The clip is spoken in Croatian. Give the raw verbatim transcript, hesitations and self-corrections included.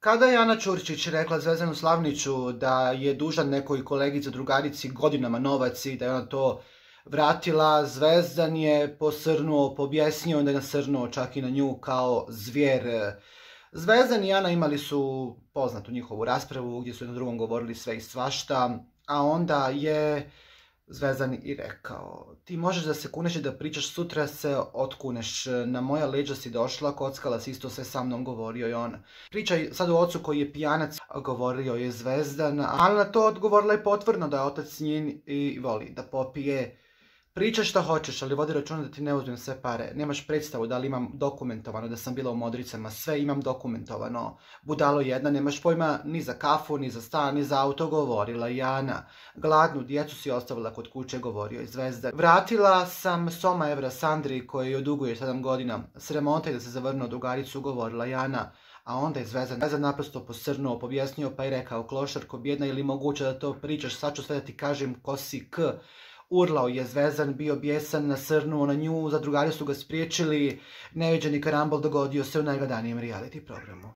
Kada je Ana Ćurčić rekla Zvezdanu Slavniću da je dužan nekoj kolegici drugarici godinama novac i da je ona to vratila, Zvezdan je posrnuo, pobjesnio, onda je nasrnuo čak i na nju kao zvijer. Zvezdan i Ana imali su poznatu njihovu raspravu gdje su jedno drugom govorili sve i svašta, a onda je Zvezdan i rekao: ti možeš da se kuneš i da pričaš, sutra se otkuneš, na moja leđa si došla, kockala si, isto sve sa mnom, govorio je on. Pričaj sad o ocu koji je pijanac, govorio je Zvezdan, ali na to odgovorila je potvrdno da je otac njen i voli da popije. Pričaj šta hoćeš, ali vodi računa da ti ne uzmem sve pare. Nemaš predstavu da li imam dokumentovano da sam bila u Modricama, sve imam dokumentovano. Budalo jedna, nemaš pojma ni za kafu, ni za stan, ni za auto, govorila je Ana. Gladnu djecu si ostavila kod kuće, govorio je Zvezdan. Vratila sam Soma evra Sandri koji joj duguje sedam godina. Sramota da se zavrnuo drugaricu, govorila je Ana. A onda je Zvezdan, Zvezdan naprosto posrnuo, pobjesnio pa je rekao: klošarko bjedna, ili moguće da to pričaš, sad ću sve da ti kažem ko si k. Urlao je Zvezdan, bio bijesan, nasrnuo na nju, zadrugari su ga spriječili, neviđeni karambol dogodio se u najgledanijem reality programu.